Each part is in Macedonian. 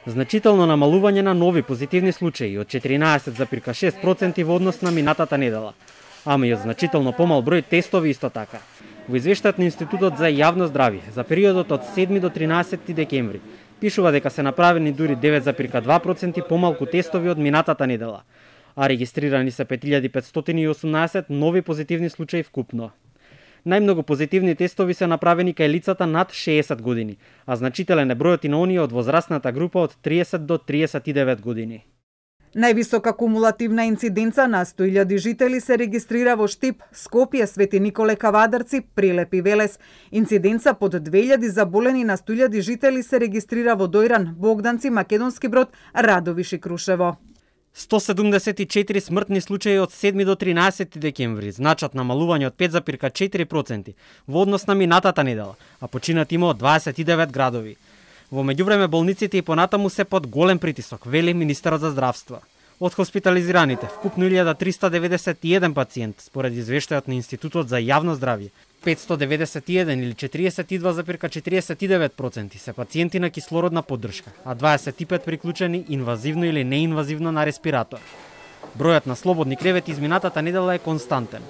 Значително намалување на нови позитивни случаи од 14,6% во однос на минатата недела, ама и од значително помал број тестови исто така. Во извештајот на Институтот за јавно здравје за периодот од 7 до 13 декември пишува дека се направени дури 9,2% помалку тестови од минатата недела, а регистрирани се 5518 нови позитивни случаи вкупно. Најмногу позитивни тестови се направени кај лицата над 60 години, а значителен е бројот и на оние од возрастната група од 30 до 39 години. Највисока кумулативна инциденца на 100.000 жители се регистрира во Штип, Скопје, Свети Николе, Кавадарци, Прилеп и Велес. Инциденца под 2000 заболени на 100.000 жители се регистрира во Дојран, Богданци, Македонски Брод, Радовиш и Крушево. 174 смртни случаи од 7 до 13 декември, значат намалување од 5,4% во однос на минатата недела, а починат има од 29 градови. Во меѓувреме болниците и понатаму се под голем притисок, вели министерот за здравство. Од хоспитализираните, вкупно 1391 пациент, според извештајот на Институтот за јавно здравје, 591 или 42,49% се пациенти на кислородна поддршка, а 25 приклучени инвазивно или неинвазивно на респиратор. Бројот на слободни кревети изминатата недела е константен.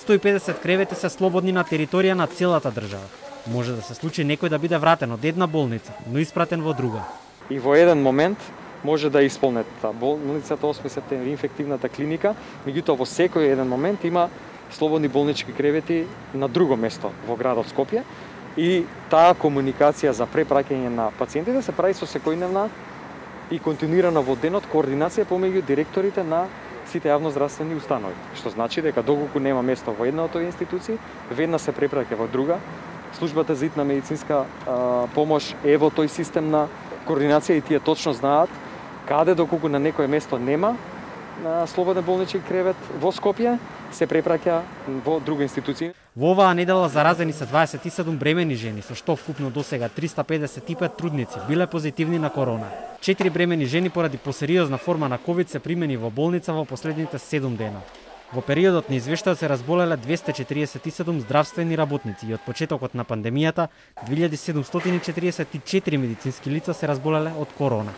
150 кревети се слободни на територија на целата држава. Може да се случи некој да биде вратен од една болница, но испратен во друга. И во еден момент може да исполнет болницата 8 септември инфективната клиника, меѓутоа во секој еден момент има слободни болнички кревети на друго место во градот Скопје и таа комуникација за препраќање на пациентите се прави со секојдневна и континуирана во денот координација помеѓу директорите на сите јавноздравствени установи, што значи дека доколку нема место во една од овие институции, веднаш се препраќа во друга. Службата за итна медицинска помош е во тој систем на координација и тие точно знаат каде доколку на некое место нема на слободен болнички кревет во Скопје, се препраќа во друга институција. Во оваа недела заразени се 27 бремени жени, со што вкупно досега 355 трудници биле позитивни на корона. 4 бремени жени поради посериозна форма на ковид се примени во болница во последните 7 дена. Во периодот на извештајот се разболеле 247 здравствени работници и од почетокот на пандемијата 2744 медицински лица се разболеле од корона.